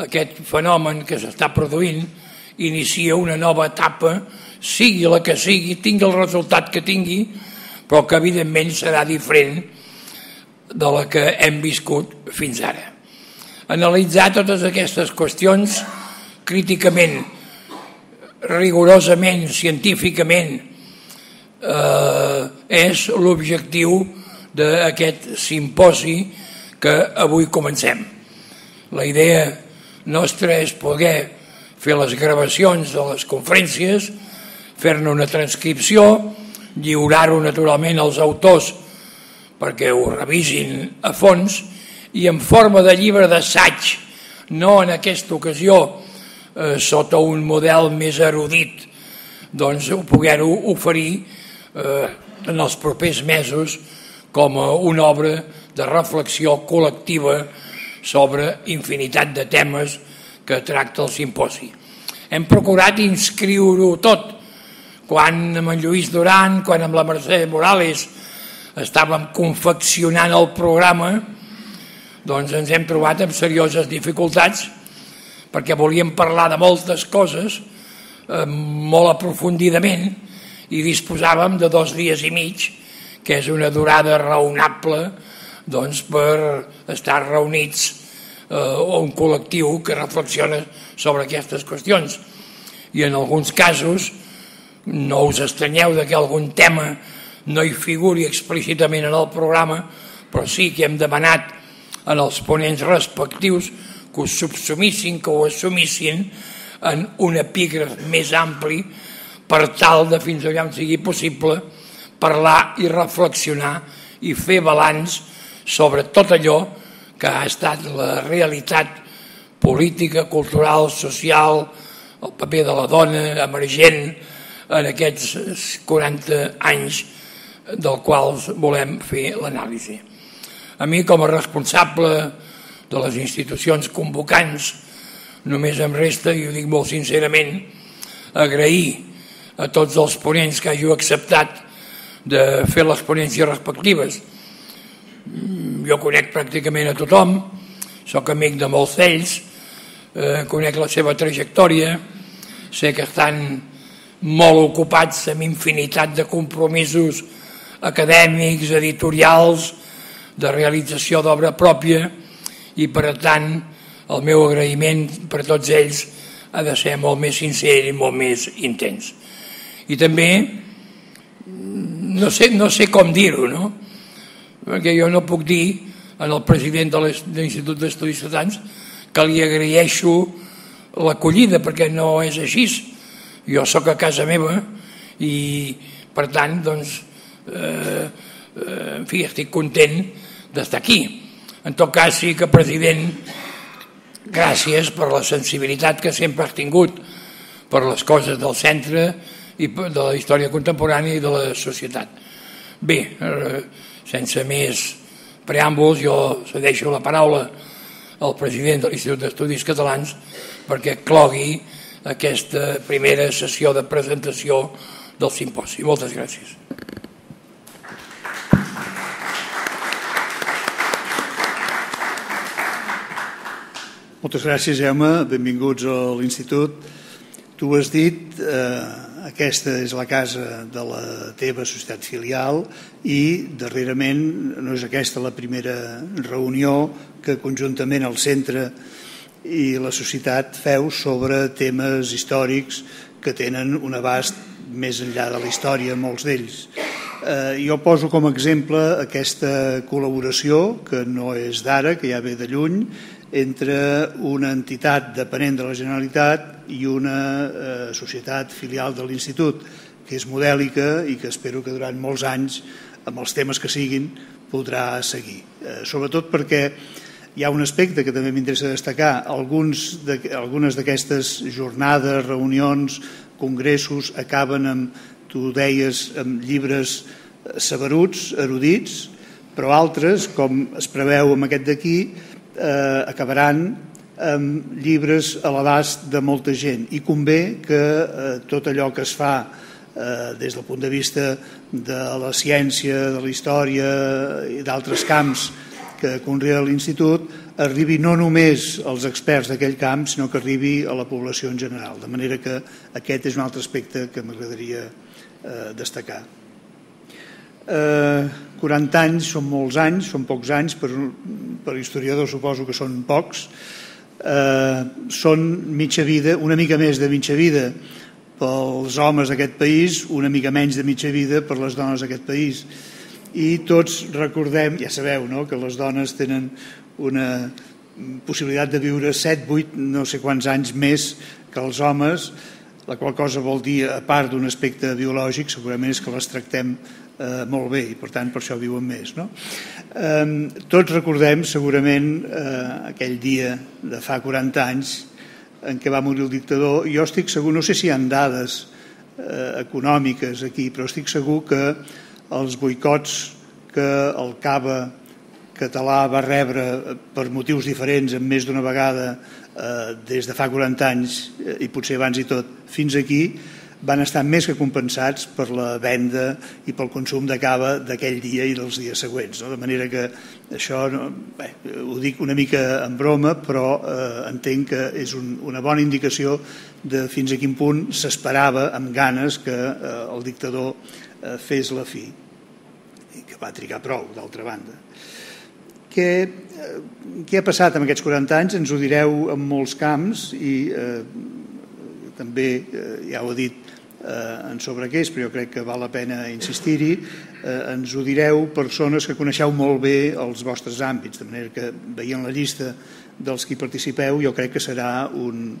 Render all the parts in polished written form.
aquest fenomen que s'està produint inicia una nova etapa, sigui la que sigui, tingui el resultat que tingui, però que evidentment serà diferent de la que hem viscut fins ara. Analitzar totes aquestes qüestions críticament, rigorosament, científicament, és l'objectiu d'aquest simposi que avui comencem. La idea nostra és poder fer les gravacions de les conferències, fer-ne una transcripció, lliurar-ho naturalment als autors perquè ho revisin a fons i en forma de llibre d'assaig, no en aquesta ocasió sota un model més erudit, doncs poder-ho oferir en els propers mesos com una obra de reflexió col·lectiva sobre infinitat de temes que tracta el simposi. Hem procurat inscriure-ho tot. Quan amb en Lluís Duran, quan amb la Mercè Morales estàvem confeccionant el programa, doncs ens hem trobat amb serioses dificultats perquè volíem parlar de moltes coses molt aprofundidament i disposàvem de 2 dies i mig, que és una durada raonable doncs, per estar reunits un col·lectiu que reflexiona sobre aquestes qüestions. I en alguns casos no us estranyeu que algun tema no hi figuri explícitament en el programa, però sí que hem demanat en els ponents respectius que ho subsumissin, que ho assumissin en un epígraf més ampli per tal de, fins allà on sigui possible, parlar i reflexionar i fer balanç sobre tot allò que ha estat la realitat política, cultural, social, el paper de la dona emergent en aquests 40 anys del quals volem fer l'anàlisi. A mi, com a responsable de les institucions convocants, només em resta, i ho dic molt sincerament, agrair a tots els ponents que hàgiu acceptat de fer les ponències respectives. Jo conec pràcticament a tothom, soc amic de molts d'ells, conec la seva trajectòria, sé que estan molt ocupats amb infinitat de compromisos acadèmics, editorials, de realització d'obra pròpia i, per tant, el meu agraïment per a tots ells ha de ser molt més sincer i molt més intens. I també, no sé com dir-ho, no? Perquè jo no puc dir al president de l'Institut d'Estudis Ciutadans que li agraeixo l'acollida, perquè no és així. Jo sóc a casa meva i, per tant, doncs, en fi, estic content d'estar aquí. En tot cas, sí que, president, gràcies per la sensibilitat que sempre has tingut per les coses del centre i de la història contemporània i de la societat. Bé, sense més preàmbuls, jo cedeixo la paraula al president de l'Institut d'Estudis Catalans perquè clogui aquesta primera sessió de presentació del simposi. Moltes gràcies. Moltes gràcies, Jaume. Benvinguts a l'Institut. Tu ho has dit, aquesta és la casa de la teva societat filial i darrerament no és aquesta la primera reunió que conjuntament el centre i la societat feu sobre temes històrics que tenen un abast més enllà de la història, molts d'ells. Jo poso com a exemple aquesta col·laboració, que no és d'ara, que ja ve de lluny, entre una entitat dependent de la Generalitat i una societat filial de l'Institut, que és modèlica i que espero que durant molts anys, amb els temes que siguin, podrà seguir. Sobretot perquè hi ha un aspecte que també m'interessa destacar. Algunes d'aquestes jornades, reunions, congressos acaben amb, tu deies, amb llibres saberuts, erudits, però altres, com es preveu amb aquest d'aquí, acabaran amb llibres a l'abast de molta gent i convé que tot allò que es fa des del punt de vista de la ciència, de la història i d'altres camps que conrea l'Institut arribi no només als experts d'aquell camp, sinó que arribi a la població en general. De manera que aquest és un altre aspecte que m'agradaria destacar. 40 anys són molts anys, són pocs anys, per historiadors suposo que són pocs. Són mitja vida, una mica més de mitja vida pels homes d'aquest país, una mica menys de mitja vida per les dones d'aquest país. I tots recordem, ja sabeu, no?, que les dones tenen una possibilitat de viure 7, 8, no sé quants anys més que els homes, la qual cosa vol dir, a part d'un aspecte biològic, segurament és que les tractem molt bé i per tant per això viuen més, no? Tots recordem segurament aquell dia de fa 40 anys en què va morir el dictador. Jo estic segur, no sé si hi ha dades econòmiques aquí, però estic segur que els boicots que el cava català va rebre per motius diferents en més d'una vegada des de fa 40 anys i potser abans i tot fins aquí, van estar més que compensats per la venda i pel consum de cava d'aquell dia i dels dies següents, no? De manera que això, ho dic una mica en broma, però entenc que és una bona indicació de fins a quin punt s'esperava amb ganes que el dictador fes la fi, i que va trigar prou, d'altra banda. Què ha passat en aquests 40 anys? Ens ho direu en molts camps i també ja ho he dit en sobre què és, però jo crec que val la pena insistir-hi. Ens ho direu persones que coneixeu molt bé els vostres àmbits, de manera que veient la llista dels qui participeu jo crec que serà un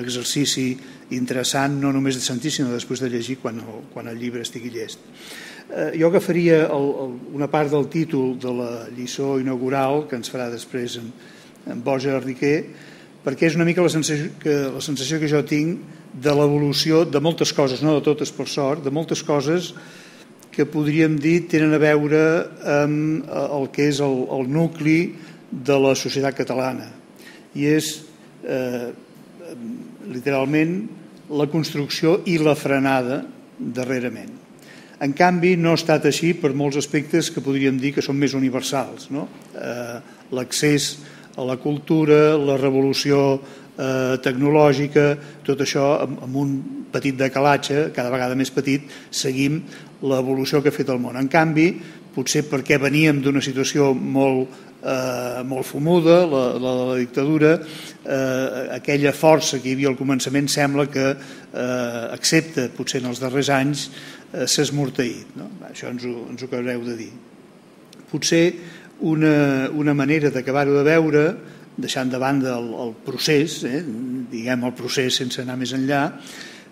exercici interessant no només de sentir sinó després de llegir quan el llibre estigui llest. Jo agafaria una part del títol de la lliçó inaugural que ens farà després en Borja Riquer, perquè és una mica la sensació que jo tinc de l'evolució de moltes coses, no de totes per sort, de moltes coses que podríem dir tenen a veure amb el que és el nucli de la societat catalana, i és literalment la construcció i la frenada darrerament. En canvi, no ha estat així per molts aspectes que podríem dir que són més universals, no? L'accés a la cultura, la revolució tecnològica, tot això amb un petit decalatge, cada vegada més petit, seguim l'evolució que ha fet el món. En canvi, potser perquè veníem d'una situació molt fumuda, la de la dictadura, aquella força que hi havia al començament sembla que, excepte potser en els darrers anys, s'ha esmorteït, no? Això ens ho acabareu de dir. Potser una manera d'acabar-ho de veure, deixant de banda el procés, diguem el procés sense anar més enllà,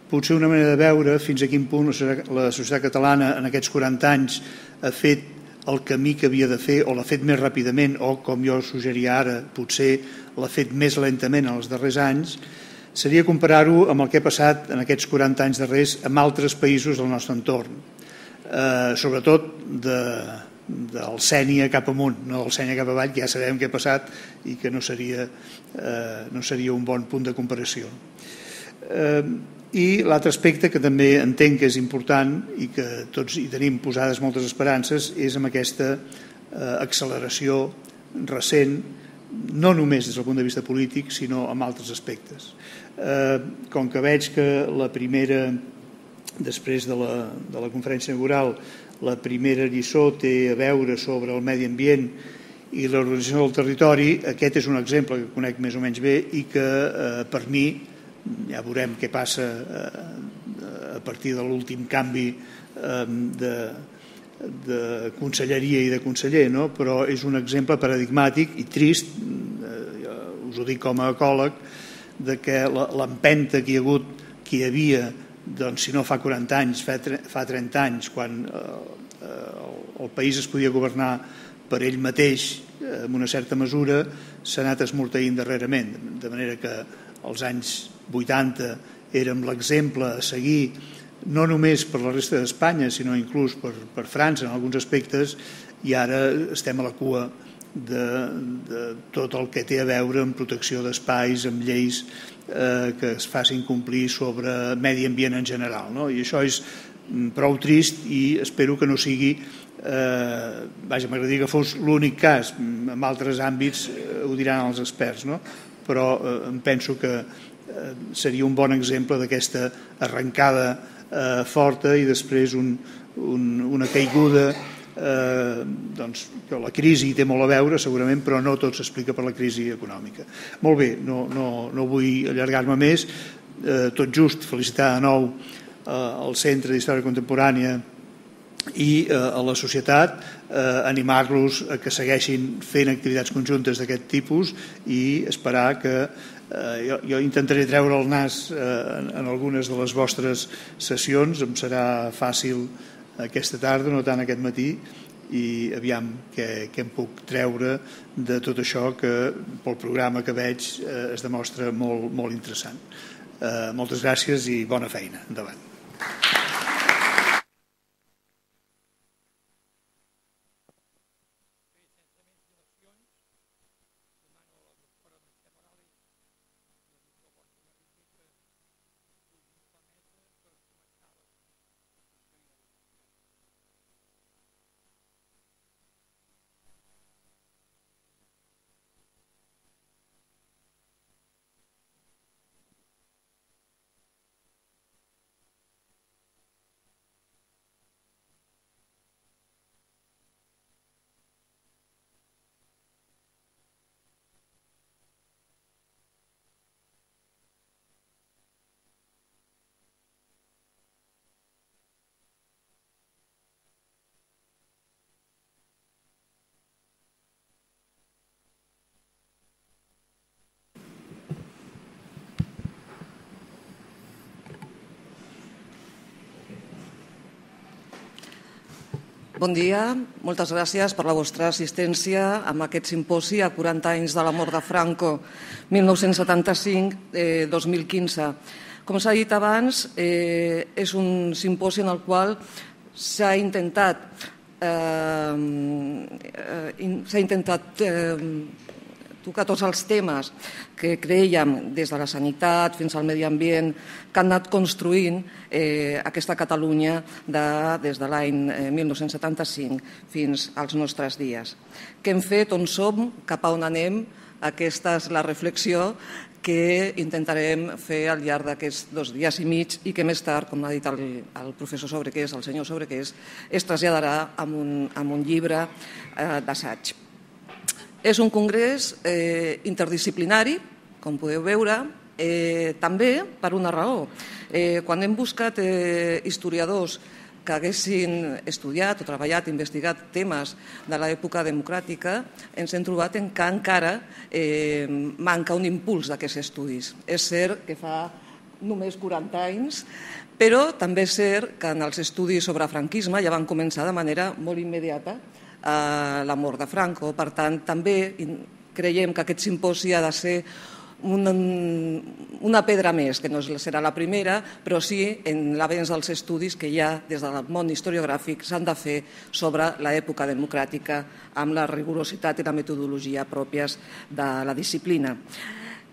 potser una manera de veure fins a quin punt la societat catalana en aquests 40 anys ha fet el camí que havia de fer o l'ha fet més ràpidament o, com jo suggeria ara, potser l'ha fet més lentament en els darrers anys, seria comparar-ho amb el que ha passat en aquests 40 anys darrers amb altres països del nostre entorn, sobretot del Sènia cap amunt, no del Sènia cap avall, que ja sabem què ha passat i que no seria un bon punt de comparació. I l'altre aspecte que també entenc que és important i que tots hi tenim posades moltes esperances és amb aquesta acceleració recent, no només des del punt de vista polític, sinó amb altres aspectes. Com que veig que la primera, després de la conferència inaugural, la primera lliçó té a veure sobre el medi ambient i l'organització del territori, aquest és un exemple que conec més o menys bé i que per mi, ja veurem què passa a partir de l'últim canvi de conselleria i de conseller, no? Però és un exemple paradigmàtic i trist, us ho dic com a ecòleg, de que l'empenta que hi havia, doncs, si no fa 40 anys, fa 30 anys, quan el país es podia governar per ell mateix en una certa mesura, s'ha anat esmorteint darrerament, de manera que als anys 80 érem l'exemple a seguir no només per la resta d'Espanya sinó inclús per França en alguns aspectes, i ara estem a la cua de tot el que té a veure amb protecció d'espais, amb lleis que es facin complir sobre medi ambient en general, no? I això és prou trist i espero que no sigui, m'agradaria que fos l'únic cas. En altres àmbits ho diran els experts, no? Però em penso que seria un bon exemple d'aquesta arrencada forta i després una caiguda, que la crisi té molt a veure segurament, però no tot s'explica per la crisi econòmica. Molt bé, no vull allargar-me més. Tot just felicitar de nou al Centre d'Història Contemporània i a la societat, animar-los a que segueixin fent activitats conjuntes d'aquest tipus i esperar que jo intentaré treure el nas en algunes de les vostres sessions. Em serà fàcil aquesta tarda, no tant aquest matí, i aviam què em puc treure de tot això que pel programa que veig es demostra molt, molt interessant. Moltes gràcies i bona feina. Endavant. Bon dia, moltes gràcies per la vostra assistència a aquest simposi a 40 anys de la mort de Franco, 1975-2015. Com s'ha dit abans, és un simposi en el qual s'ha intentat tocar tots els temes que creiem des de la sanitat fins al medi ambient que han anat construint aquesta Catalunya des de l'any 1975 fins als nostres dies. Què hem fet, on som, cap a on anem? Aquesta és la reflexió que intentarem fer al llarg d'aquests 2 dies i mig i que més tard, com ha dit el professor Sobrequés, el senyor Sobrequés, es traslladarà amb un llibre d'assaig. És un congrés interdisciplinari, com podeu veure, també per una raó. Quan hem buscat historiadors que haguessin estudiat o treballat, investigat temes de l'època democràtica, ens hem trobat que encara manca un impuls d'aquests estudis. És cert que fa només 40 anys, però també és cert que en els estudis sobre franquisme ja van començar de manera molt immediata la mort de Franco. Per tant, també creiem que aquest simposi ha de ser una pedra més, que no serà la primera, però sí en l'avenç dels estudis que ja des del món historiogràfic s'han de fer sobre l'època democràtica amb la rigorositat i la metodologia pròpies de la disciplina.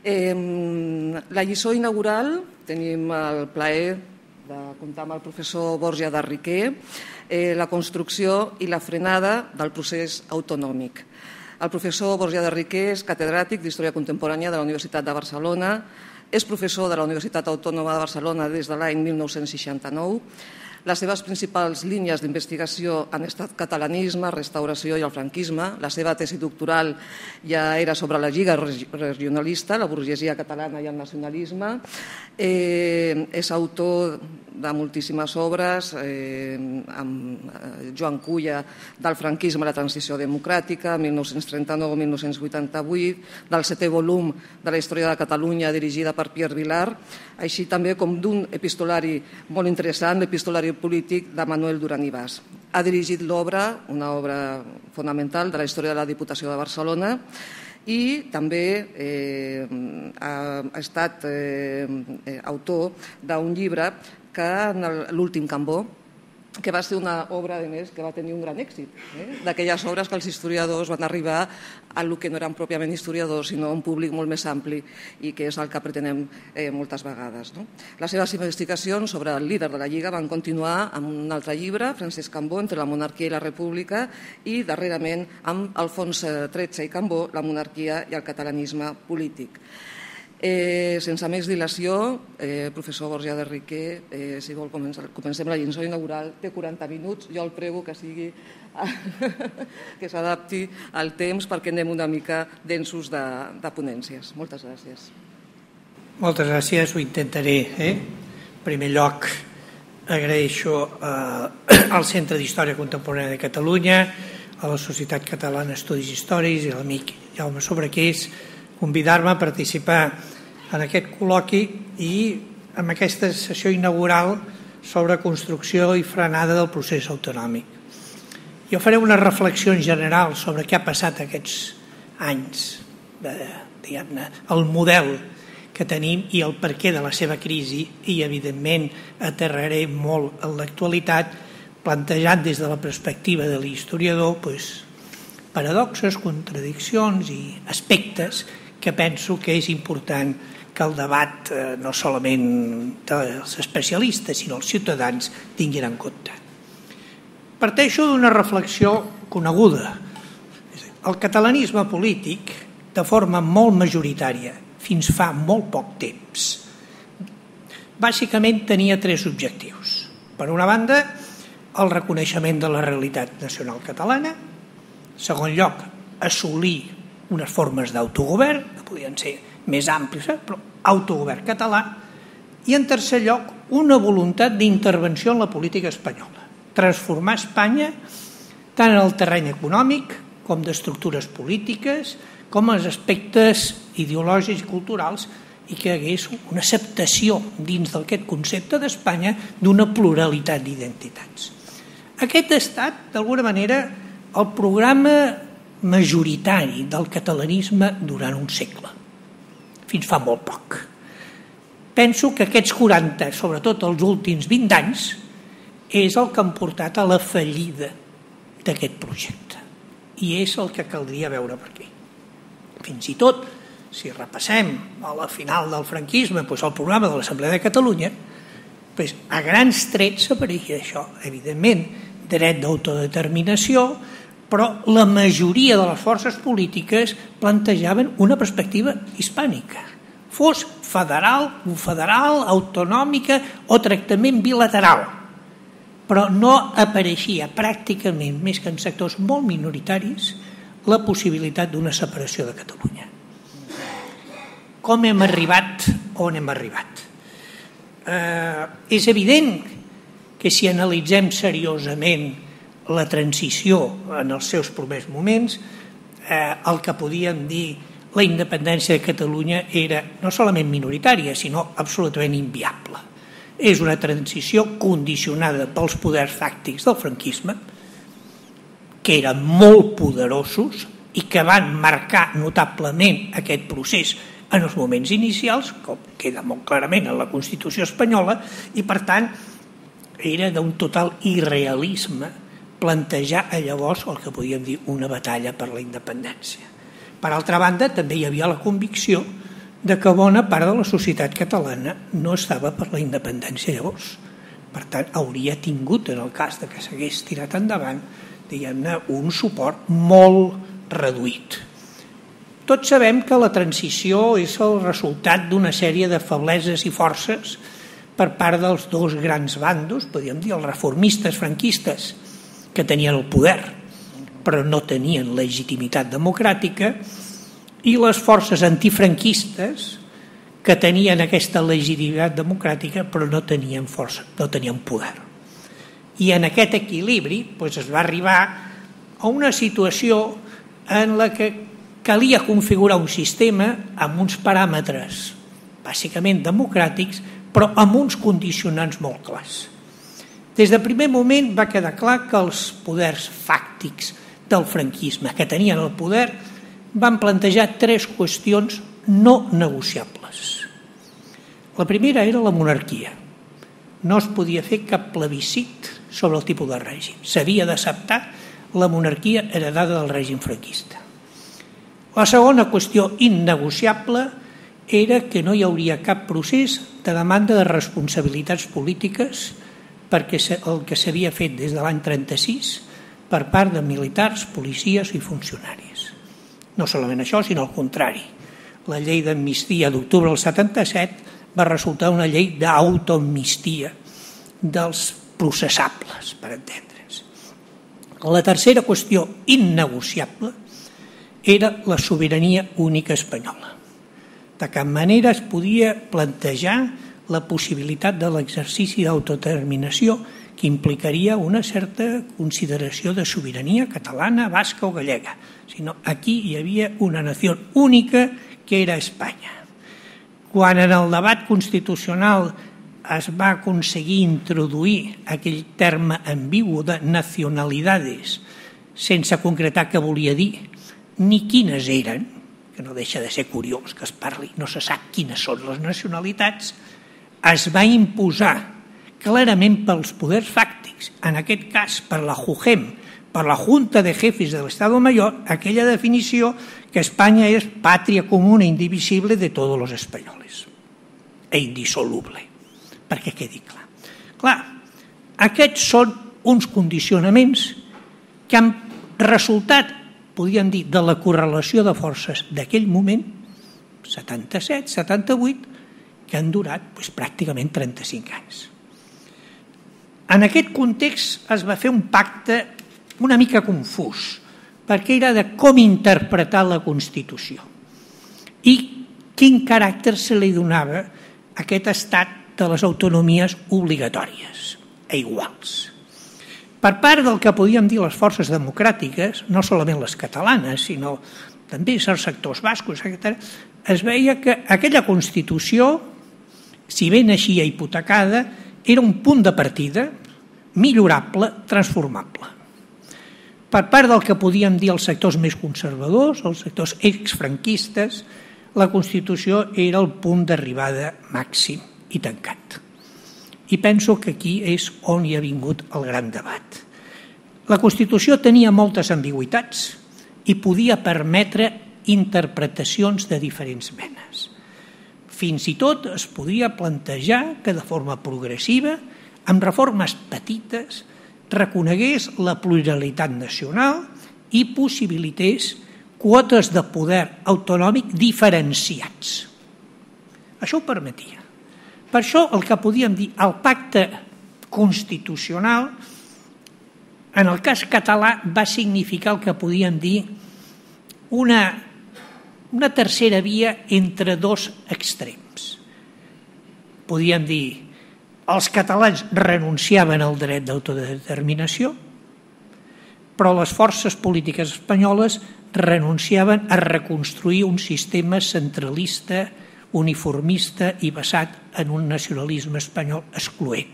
La lliçó inaugural tenim el plaer de comptar amb el professor Borja de Riquer, la construcció i la frenada del procés autonòmic. El professor Borja de Riquer és catedràtic d'Història Contemporània de la Universitat de Barcelona, és professor de la Universitat Autònoma de Barcelona des de l'any 1969. Les seves principals línies d'investigació han estat catalanisme, restauració i el franquisme. La seva tesi doctoral ja era sobre la Lliga regionalista, la burgesia catalana i el nacionalisme. És autor de moltíssimes obres, amb Joan Culla, del franquisme a la transició democràtica, 1939-1988, del 7è volum de la història de Catalunya dirigida per Pierre Vilar, així també com d'un epistolari molt interessant, l'epistolari polític de Manuel Duran i Bas. Ha dirigit l'obra, una obra fonamental de la història de la Diputació de Barcelona, i també ha estat autor d'un llibre que en l'últim Cambó, que va ser una obra, a més, que va tenir un gran èxit, d'aquelles obres que els historiadors van arribar a el que no eren pròpiament historiadors, sinó a un públic molt més ampli i que és el que pretenem moltes vegades. Les seves investigacions sobre el líder de la Lliga van continuar amb un altre llibre, Francesc Cambó, Entre la monarquia i la república, i darrerament amb Alfons XIII i Cambó, La monarquia i el catalanisme polític. Sense més dilació, professor Borja de Riquer, si vol comencem la lliçó inaugural, té 40 minuts, jo el prego que s'adapti al temps perquè anem una mica densos de ponències. Moltes gràcies. Moltes gràcies, ho intentaré. En primer lloc, agraeixo al Centre d'Història Contemporània de Catalunya, a la Societat Catalana d'Estudis Històrics i a l'amic Jaume Sobrequés convidar-me a participar en aquest col·loqui i en aquesta sessió inaugural sobre construcció i frenada del procés autonòmic. Jo faré una reflexió en general sobre què ha passat aquests anys, diguem-ne, el model que tenim i el perquè de la seva crisi i, evidentment, aterraré molt en l'actualitat, plantejant des de la perspectiva de l'historiador paradoxes, contradiccions i aspectes que penso que és important que el debat no solament dels especialistes sinó els ciutadans tinguin en compte. Parteixo d'una reflexió coneguda. El catalanisme polític, de forma molt majoritària, fins fa molt poc temps, bàsicament tenia tres objectius. Per una banda, el reconeixement de la realitat nacional catalana. En segon lloc, assolir unes formes d'autogovern, que podien ser més àmplies, però autogovern català. I en tercer lloc, una voluntat d'intervenció en la política espanyola. Transformar Espanya tant en el terreny econòmic com d'estructures polítiques, com els aspectes ideològics i culturals, i que hi hagués una acceptació dins d'aquest concepte d'Espanya d'una pluralitat d'identitats. Aquest ha estat, d'alguna manera, el programa majoritari del catalanisme durant un segle, fins fa molt poc. Penso que aquests 40, sobretot els últims 20 anys, és el que han portat a la fallida d'aquest projecte. I és el que caldria veure per aquí. Fins i tot, si repassem a la final del franquisme el programa de l'Assemblea de Catalunya, a grans trets apareixia això. Evidentment, dret d'autodeterminació, però la majoria de les forces polítiques plantejaven una perspectiva hispànica. Fos federal, confederal, autonòmica o tractament bilateral. Però no apareixia pràcticament, més que en sectors molt minoritaris, la possibilitat d'una separació de Catalunya. Com hem arribat on hem arribat? És evident que si analitzem seriosament la transició en els seus primers moments, el que podíem dir la independència de Catalunya era no solament minoritària, sinó absolutament inviable. És una transició condicionada pels poders fàctics del franquisme, que eren molt poderosos i que van marcar notablement aquest procés en els moments inicials, com queda molt clarament en la Constitució espanyola, i per tant era d'un total irrealisme plantejar llavors el que podíem dir una batalla per la independència. Per altra banda, també hi havia la convicció de que bona part de la societat catalana no estava per la independència llavors. Per tant, hauria tingut, en el cas de que s'hagués tirat endavant, diguem-ne, un suport molt reduït. Tots sabem que la transició és el resultat d'una sèrie de febleses i forces per part dels dos grans bandos, podríem dir els reformistes franquistes, que tenien el poder, però no tenien legitimitat democràtica, i les forces antifranquistes, que tenien aquesta legitimitat democràtica, però no tenien força, no tenien poder. I en aquest equilibri es va arribar a una situació en la que calia configurar un sistema amb uns paràmetres bàsicament democràtics, però amb uns condicionants molt clars. Des del primer moment va quedar clar que els poders fàctics del franquisme que tenien el poder van plantejar tres qüestions no negociables. La primera era la monarquia. No es podia fer cap plebiscit sobre el tipus de règim. S'havia d'acceptar la monarquia heredada del règim franquista. La segona qüestió innegociable era que no hi hauria cap procés de demanda de responsabilitats polítiques perquè el que s'havia fet des de l'any 36 per part de militars, policies i funcionaris. No solament això, sinó al contrari. La llei d'amnistia d'octubre del 77 va resultar una llei d'autoamnistia dels processables, per entendre's. La tercera qüestió innegociable era la sobirania única espanyola. De cap manera es podia plantejar la possibilitat de l'exercici d'autodeterminació que implicaria una certa consideració de sobirania catalana, basca o gallega, sinó aquí hi havia una nació única que era Espanya. Quan en el debat constitucional es va aconseguir introduir aquell terme ambigu de nacionalidades sense concretar què volia dir ni quines eren, que no deixa de ser curiós que es parli, no se sap quines són les nacionalitats, es va imposar clarament pels poders fàctics, en aquest cas per la JUGEM, per la Junta de Jefes del Estado Mayor, aquella definició que Espanya és pàtria comuna indivisible de tots els espanyols e indissoluble, perquè quedi clar. Clar, aquests són uns condicionaments que han resultat, podríem dir, de la correlació de forces d'aquell moment, 77, 78, que han durat pràcticament 35 anys. En aquest context es va fer un pacte una mica confús, perquè era de com interpretar la Constitució i quin caràcter se li donava a aquest estat de les autonomies obligatòries e iguals. Per part del que podíem dir les forces democràtiques, no solament les catalanes, sinó també certs sectors bascos, etc., es veia que aquella Constitució, si bé naixia hipotecada, era un punt de partida millorable, transformable. Per part del que podíem dir els sectors més conservadors, els sectors exfranquistes, la Constitució era el punt d'arribada màxim i tancat. I penso que aquí és on hi ha vingut el gran debat. La Constitució tenia moltes ambigüitats i podia permetre interpretacions de diferents menes. Fins i tot es podia plantejar que de forma progressiva, amb reformes petites, reconegués la pluralitat nacional i possibilités quotes de poder autonòmic diferenciats. Això ho permetia. Per això el que podíem dir, el pacte constitucional, en el cas català, va significar el que podíem dir una tercera via entre dos extrems. Podíem dir, els catalans renunciaven al dret d'autodeterminació, però les forces polítiques espanyoles renunciaven a reconstruir un sistema centralista, uniformista i basat en un nacionalisme espanyol excloent.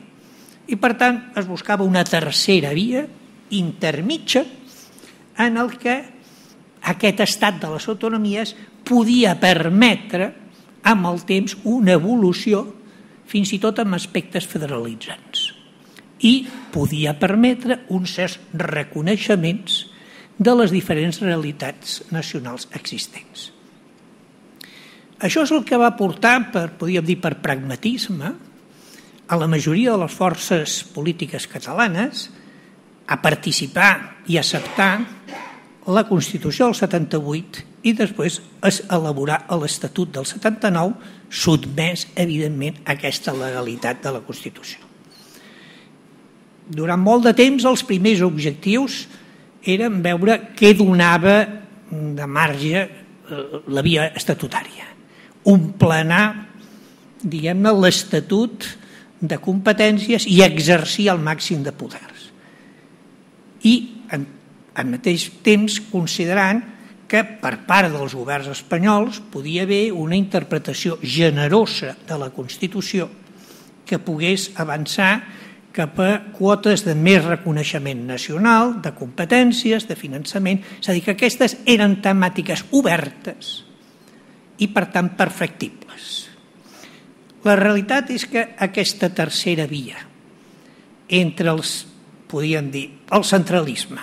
I, per tant, es buscava una tercera via intermitja en el que aquest estat de les autonomies podia permetre amb el temps una evolució fins i tot amb aspectes federalitzants i podia permetre uns certs reconeixements de les diferents realitats nacionals existents. Això és el que va portar, podríem dir per pragmatisme, a la majoria de les forces polítiques catalanes a participar i acceptar la Constitució del 78 i després elaborar l'Estatut del 79, sotmès, evidentment, a aquesta legalitat de la Constitució. Durant molt de temps, els primers objectius eren veure què donava de marge la via estatutària. Emplenar, diguem-ne, l'Estatut de competències i exercir el màxim de poders. I, al mateix temps, considerant que per part dels governs espanyols podia haver una interpretació generosa de la Constitució que pogués avançar cap a quotes de més reconeixement nacional, de competències, de finançament. És a dir, que aquestes eren temàtiques obertes i, per tant, perfectibles. La realitat és que aquesta tercera via entre els podien dir, el centralisme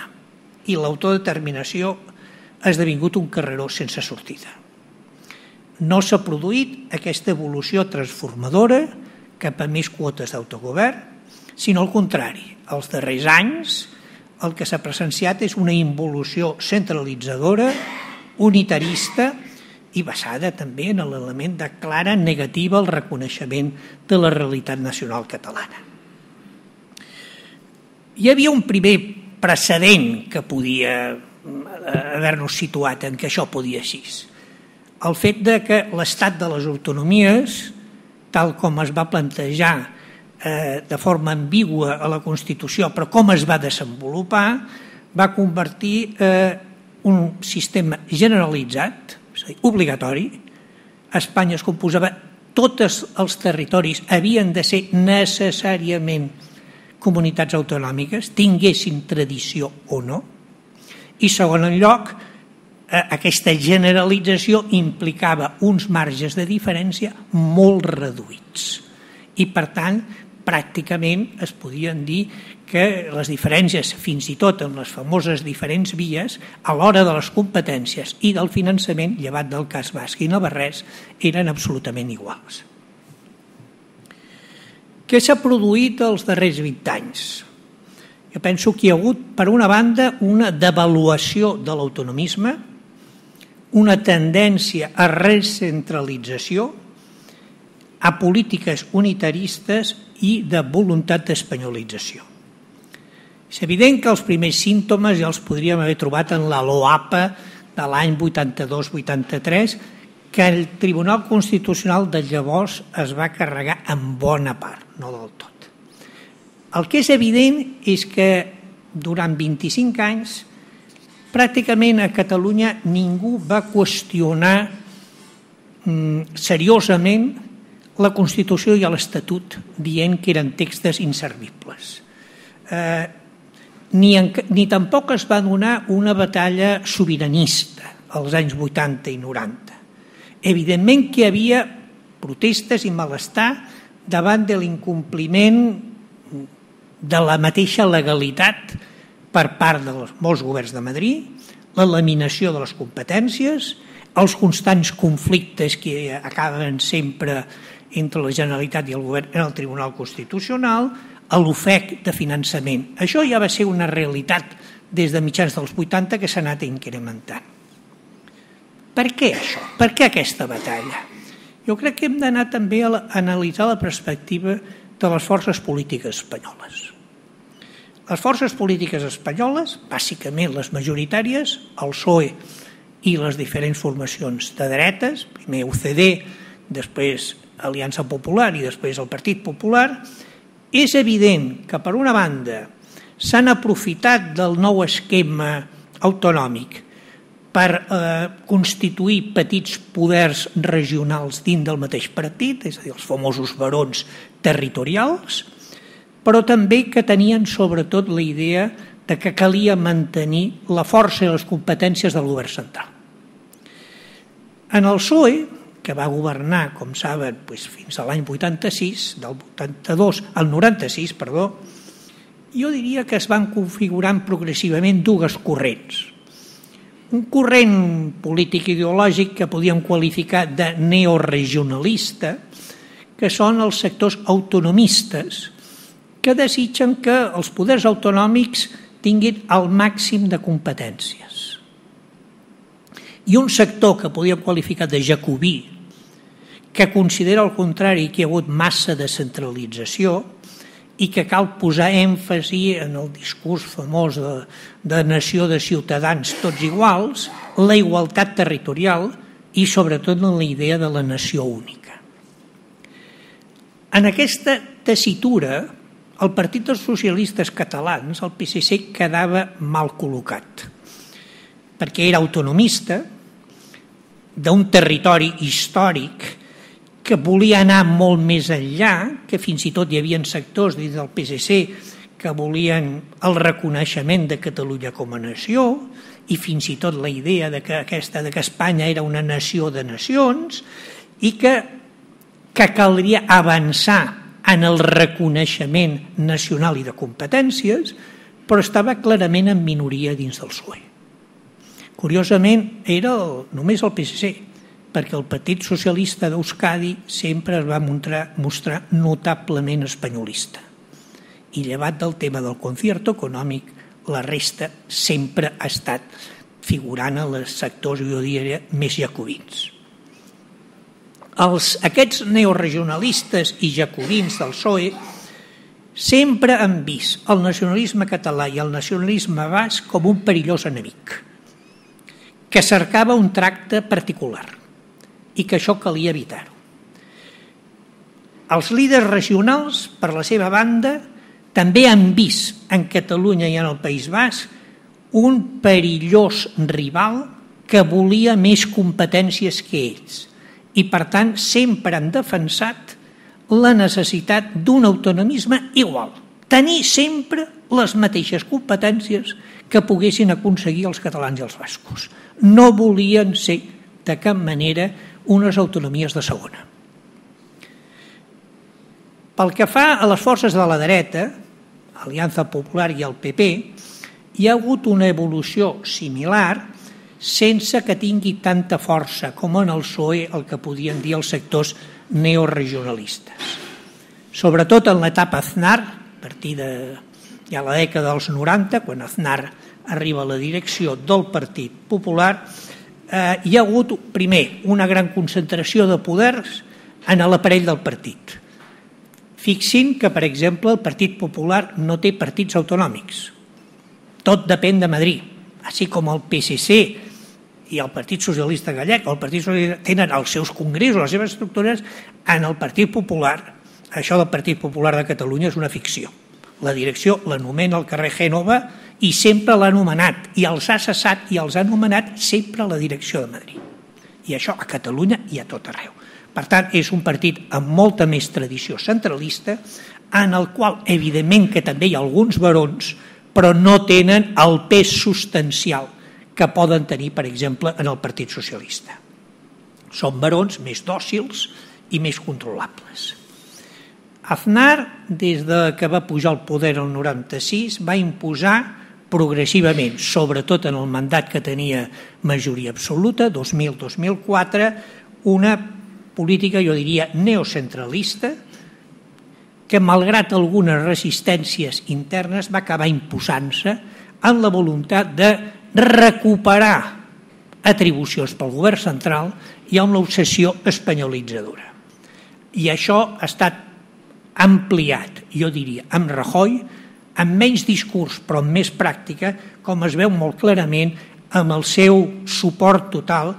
i l'autodeterminació ha esdevingut un carreró sense sortida. No s'ha produït aquesta evolució transformadora cap a més quotes d'autogovern, sinó al contrari. Els darrers anys el que s'ha presenciat és una involució centralitzadora, unitarista i basada també en l'element de clara negativa al reconeixement de la realitat nacional catalana. Hi havia un primer precedent que podia haver-nos situat en què això podia ser. El fet de que l'estat de les autonomies, tal com es va plantejar de forma ambigua a la Constitució, però com es va desenvolupar, va convertir un sistema generalitzat, és a dir, obligatori. A Espanya es composava, tots els territoris havien de ser necessàriament comunitats autonòmiques, tinguessin tradició o no. I segon lloc, aquesta generalització implicava uns marges de diferència molt reduïts. I per tant, pràcticament es podien dir que les diferències, fins i tot en les famoses diferents vies, a l'hora de les competències i del finançament, llevat del cas basc i navarrès, eren absolutament iguals. Què s'ha produït els darrers 20 anys? Jo penso que hi ha hagut, per una banda, una devaluació de l'autonomisme, una tendència a recentralització, a polítiques unitaristes i de voluntat d'espanyolització. És evident que els primers símptomes ja els podríem haver trobat en la LOAPA de l'any 82-83, que el Tribunal Constitucional de llavors es va carregar en bona part, no del tot. El que és evident és que durant 25 anys pràcticament a Catalunya ningú va qüestionar seriosament la Constitució i l'Estatut dient que eren textos inservibles. Ni tampoc es va donar una batalla sobiranista als anys 80 i 90. Evidentment que hi havia protestes i malestar davant de l'incompliment de la mateixa legalitat per part de molts governs de Madrid, la laminació de les competències, els constants conflictes que acaben sempre entre la Generalitat i el govern en el Tribunal Constitucional, a l'ofec de finançament. Això ja va ser una realitat des de mitjans dels 80 que s'ha anat incrementant. Per què això? Per què aquesta batalla? Jo crec que hem d'anar també a analitzar la perspectiva de les forces polítiques espanyoles. Les forces polítiques espanyoles, bàsicament les majoritàries, el PSOE i les diferents formacions de dretes, primer UCD, després Aliança Popular i després el Partit Popular, és evident que, per una banda, s'han aprofitat del nou esquema autonòmic per constituir petits poders regionals dins del mateix partit, és a dir, els famosos barons territorials, però també que tenien sobretot la idea de que calia mantenir la força i les competències del govern central. En el PSOE, que va governar, com saben, fins a l'any 86, del 82 al 96, jo diria que es van configurant progressivament dues corrents. Un corrent polític ideològic que podíem qualificar de neoregionalista, que són els sectors autonomistes, que desitgen que els poders autonòmics tinguin el màxim de competències. I un sector que podíem qualificar de jacobí, que considera al contrari que hi ha hagut massa de centralització i que cal posar èmfasi en el discurs famós de nació de ciutadans tots iguals, la igualtat territorial i sobretot en la idea de la nació única. En aquesta tessitura, el Partit dels Socialistes Catalans, el PSC, quedava mal col·locat, perquè era autonomista d'un territori històric que volia anar molt més enllà, que fins i tot hi havia sectors dins del PSC que volien el reconeixement de Catalunya com a nació i fins i tot la idea de que Espanya era una nació de nacions i que caldria avançar en el reconeixement nacional i de competències, però estava clarament en minoria dins del PSOE. Curiosament, era només el PSC, perquè el Partit Socialista d'Euskadi sempre es va mostrar notablement espanyolista. I llevat del tema del concierto econòmic, la resta sempre ha estat figurant en els sectors, jo diria, més jacobins. Aquests neoregionalistes i jacobins del PSOE sempre han vist el nacionalisme català i el nacionalisme basc com un perillós enemic, que cercava un tracte particular i que això calia evitar-ho. Els líders regionals, per la seva banda, també han vist en Catalunya i en el País Basc un perillós rival que volia més competències que ells i, per tant, sempre han defensat la necessitat d'un autonomisme igual, tenir sempre les mateixes competències que poguessin aconseguir els catalans i els bascos. No volien ser de cap manera unes autonomies de segona. Pel que fa a les forces de la dreta, Aliança Popular i el PP, hi ha hagut una evolució similar sense que tingui tanta força com en el PSOE el que podien dir els sectors neoregionalistes. Sobretot en l'etapa Aznar, a partir de ja la dècada dels 90, quan Aznar arriba a la direcció del Partit Popular, hi ha hagut, primer, una gran concentració de poders en l'aparell del partit. Fixin que, per exemple, el Partit Popular no té partits autonòmics. Tot depèn de Madrid, així com el PSC i el Partit Socialista Gallec, el Partit Socialista tenen els seus congressos, les seves estructures, en el Partit Popular. Això del Partit Popular de Catalunya és una ficció. La direcció l'anomena al carrer Gènova i sempre l'ha anomenat, i els ha cessat i els ha anomenat sempre a la direcció de Madrid. I això a Catalunya i a tot arreu. Per tant, és un partit amb molta més tradició centralista, en el qual, evidentment, que també hi ha alguns barons, però no tenen el pes substancial que poden tenir, per exemple, en el Partit Socialista. Són barons més dòcils i més controlables. Aznar, des que va pujar al poder el 96, va imposar progressivament, sobretot en el mandat que tenia majoria absoluta, 2000-2004, una política, jo diria, neocentralista, que malgrat algunes resistències internes va acabar imposant-se en la voluntat de recuperar atribucions pel govern central i amb l'obsessió espanyolitzadora. I això ha estat ampliat, jo diria, amb Rajoy, amb menys discurs però amb més pràctica, com es veu molt clarament amb el seu suport total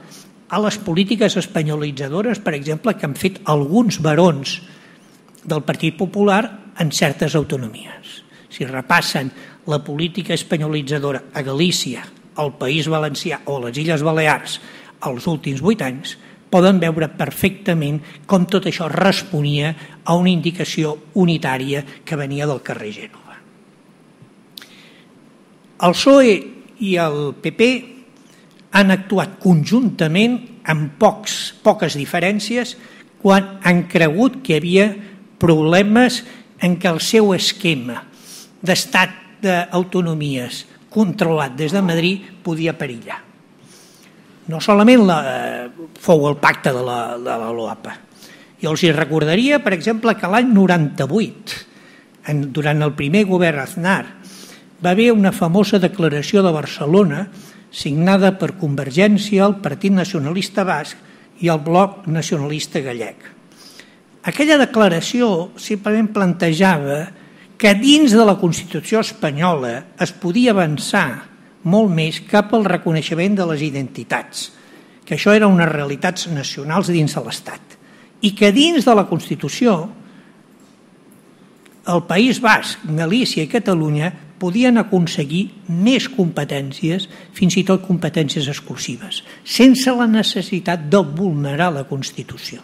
a les polítiques espanyolitzadores, per exemple, que han fet alguns barons del Partit Popular en certes autonomies. Si repassen la política espanyolitzadora a Galícia, al País Valencià o a les Illes Balears els últims 8 anys, poden veure perfectament com tot això responia a una indicació unitària que venia del carrer Gènova. El PSOE i el PP han actuat conjuntament amb poques diferències quan han cregut que hi havia problemes en què el seu esquema d'estat d'autonomies controlat des de Madrid podia perillar. No solament fou el pacte de la LOAPA. Jo els recordaria, per exemple, que l'any 98, durant el primer govern Aznar, va haver una famosa declaració de Barcelona signada per Convergència, el Partit Nacionalista Basc i el Bloc Nacionalista Gallec. Aquella declaració simplement plantejava que dins de la Constitució espanyola es podia avançar molt més cap al reconeixement de les identitats, que això eren unes realitats nacionals dins de l'Estat, i que dins de la Constitució el País Basc, Galícia i Catalunya podien aconseguir més competències, fins i tot competències exclusives, sense la necessitat de vulnerar la Constitució.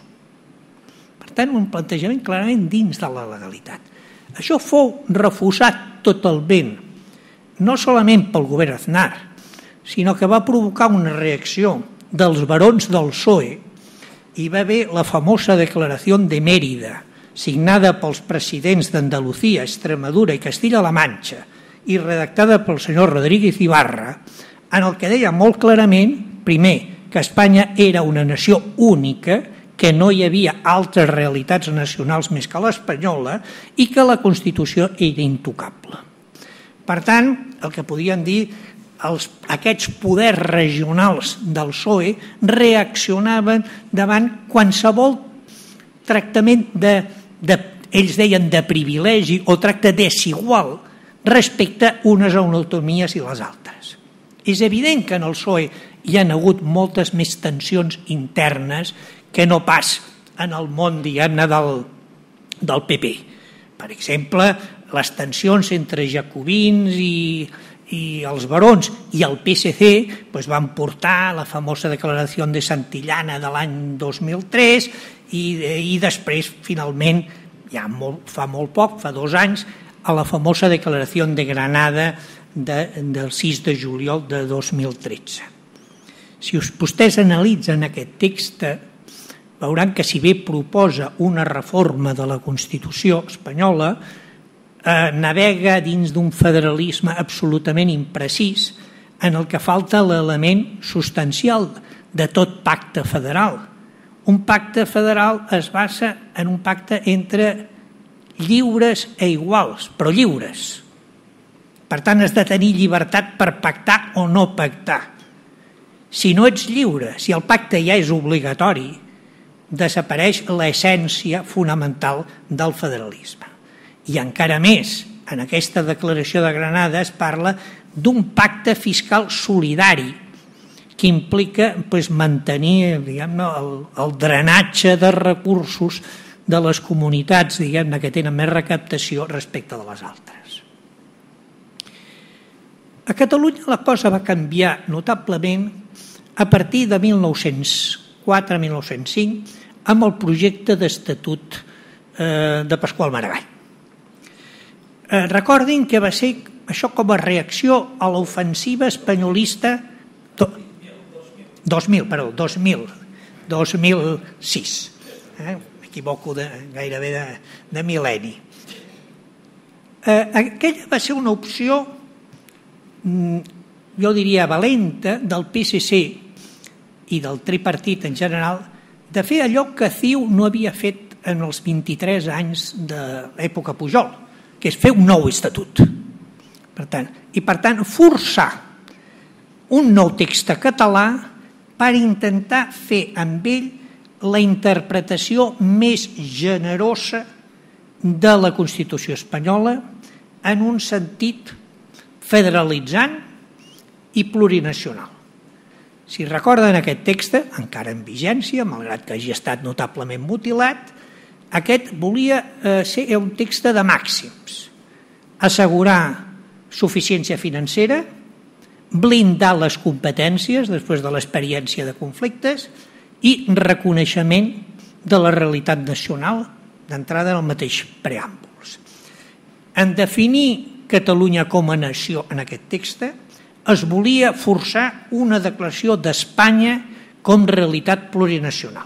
Per tant, un plantejament clarament dins de la legalitat. Això fou refusat totalment, no solament pel govern Aznar, sinó que va provocar una reacció dels barons del PSOE i va haver la famosa Declaració de Mèrida, signada pels presidents d'Andalucía, Extremadura i Castilla-La Manxa, i redactada pel senyor Rodríguez Ibarra, en el que deia molt clarament, primer, que Espanya era una nació única, que no hi havia altres realitats nacionals més que l'espanyola i que la Constitució era intocable. Per tant, el que podien dir, aquests poders regionals del PSOE reaccionaven davant qualsevol tractament ells deien de privilegi o tracte desigual respecte a unes autonomies i les altres. És evident que en el PSOE hi ha hagut moltes més tensions internes que no pas en el món, diguem-ne, del PP. Per exemple, les tensions entre jacobins i els barons i el PSC van portar la famosa declaració de Santillana de l'any 2003 i després, finalment, ja fa molt poc, fa 2 anys, a la famosa declaració de Granada del 6 de juliol de 2013. Si vostès analitzen aquest text, veuran que si bé proposa una reforma de la Constitució espanyola, navega dins d'un federalisme absolutament imprecís en el que falta l'element substancial de tot pacte federal. Un pacte federal es basa en un pacte entre lliures e iguals, però lliures. Per tant, has de tenir llibertat per pactar o no pactar. Si no ets lliure, si el pacte ja és obligatori, desapareix l'essència fonamental del federalisme. I encara més, en aquesta declaració de Granada es parla d'un pacte fiscal solidari que implica mantenir el drenatge de recursos de les comunitats que tenen més recaptació respecte de les altres. A Catalunya la cosa va canviar notablement a partir de 1904-1905 amb el projecte d'estatut de Pasqual Maragall. Recordin que va ser això com a reacció a l'ofensiva espanyolista 2006. M'equivoco gairebé de mil·lenni. Aquella va ser una opció, jo diria, valenta del PSC i del tripartit en general, de fer allò que CiU no havia fet en els 23 anys de l'època Pujol, que és fer un nou estatut. Per tant, forçar un nou text català per intentar fer amb ell la interpretació més generosa de la Constitució espanyola en un sentit federalitzant i plurinacional. Si recorden aquest text, encara en vigència, malgrat que hagi estat notablement mutilat, aquest volia ser un text de màxims, assegurar suficiència financera, blindar les competències després de l'experiència de conflictes i reconeixement de la realitat nacional d'entrada en el mateix preàmbuls. En definir Catalunya com a nació en aquest text, es volia forçar una declaració d'Espanya com realitat plurinacional.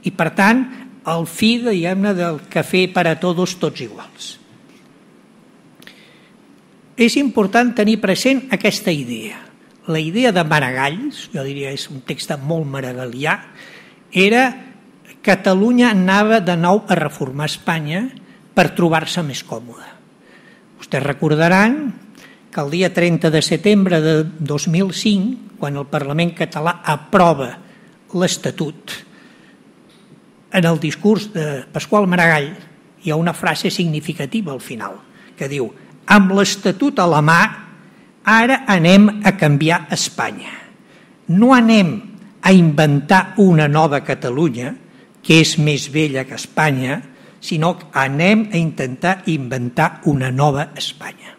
I, per tant, el fi, diguem-ne, del cafè per a tots iguals. És important tenir present aquesta idea. La idea de Maragall, jo diria és un text molt maragallià, era Catalunya anava de nou a reformar Espanya per trobar-se més còmoda. Vostès recordaran que el dia 30 de setembre de 2005, quan el Parlament català aprova l'Estatut, en el discurs de Pasqual Maragall hi ha una frase significativa al final, que diu: amb l'Estatut a la mà, ara anem a canviar Espanya. No anem a inventar una nova Catalunya, que és més vella que Espanya, sinó que anem a intentar inventar una nova Espanya.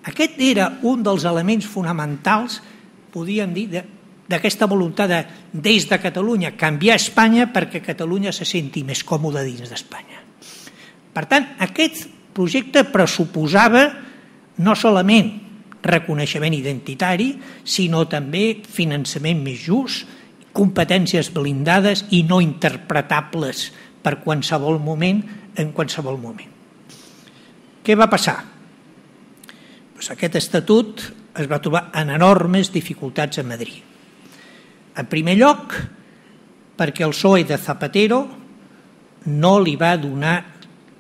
Aquest era un dels elements fonamentals, podríem dir, d'aquesta voluntat de, des de Catalunya, canviar Espanya perquè Catalunya se senti més còmoda dins d'Espanya. Per tant, aquest projecte pressuposava no solament reconeixement identitari, sinó també finançament més just, competències blindades i no interpretables per qualsevol moment, en qualsevol moment. Què va passar? Aquest estatut es va trobar en enormes dificultats a Madrid. En primer lloc, perquè el PSOE de Zapatero no li va donar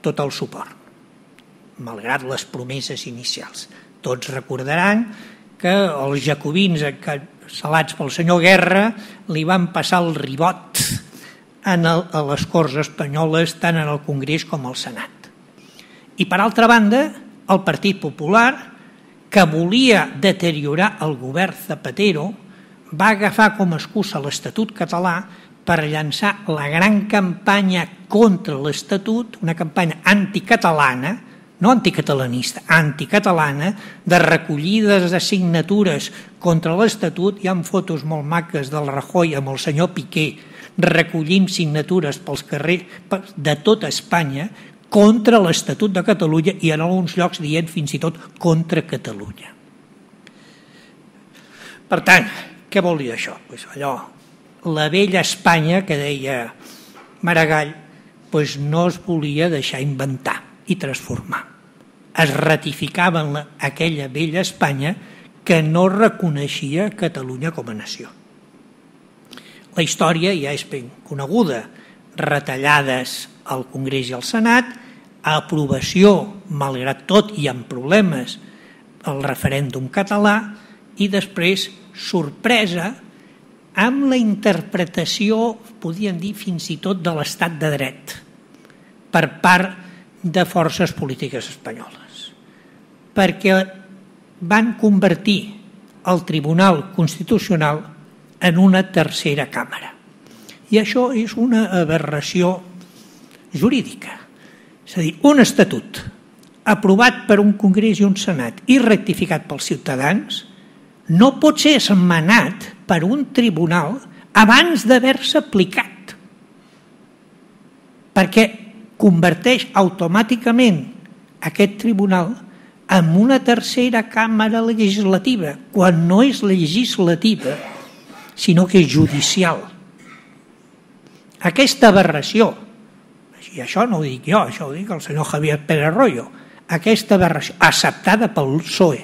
tot el suport, malgrat les promeses inicials. Tots recordaran que els jacobins salats pel senyor Guerra li van passar el ribot a les Corts espanyoles, tant en el Congrés com al Senat. I per altra banda, el Partit Popular, que volia deteriorar el govern Zapatero, va agafar com a excusa l'Estatut català per llançar la gran campanya contra l'Estatut, una campanya anticatalana, no anticatalanista, anticatalana, de recollides de signatures contra l'Estatut. Hi ha fotos molt maques del Rajoy amb el senyor Piqué recollint signatures pels carrers de tota Espanya contra l'Estatut de Catalunya i en alguns llocs dient fins i tot contra Catalunya. Per tant, què vol dir això? Pues allò, la vella Espanya que deia Maragall, pues no es volia deixar inventar i transformar. Es ratificava en aquella vella Espanya que no reconeixia Catalunya com a nació. La història ja és ben coneguda. Retallades al Congrés i al Senat, aprovació, malgrat tot i amb problemes, el referèndum català i després sorpresa amb la interpretació, podríem dir fins i tot, de l'estat de dret per part de forces polítiques espanyoles, perquè van convertir el Tribunal Constitucional en una tercera càmera. I això és una aberració jurídica. És a dir, un estatut aprovat per un Congrés i un Senat i rectificat pels ciutadans no pot ser esmenat per un tribunal abans d'haver-se aplicat, perquè converteix automàticament aquest tribunal en una tercera càmera legislativa, quan no és legislativa, sinó que és judicial. Aquesta aberració, i això no ho dic jo, això ho dic el senyor Javier Pérez Royo, aquesta aberració acceptada pel PSOE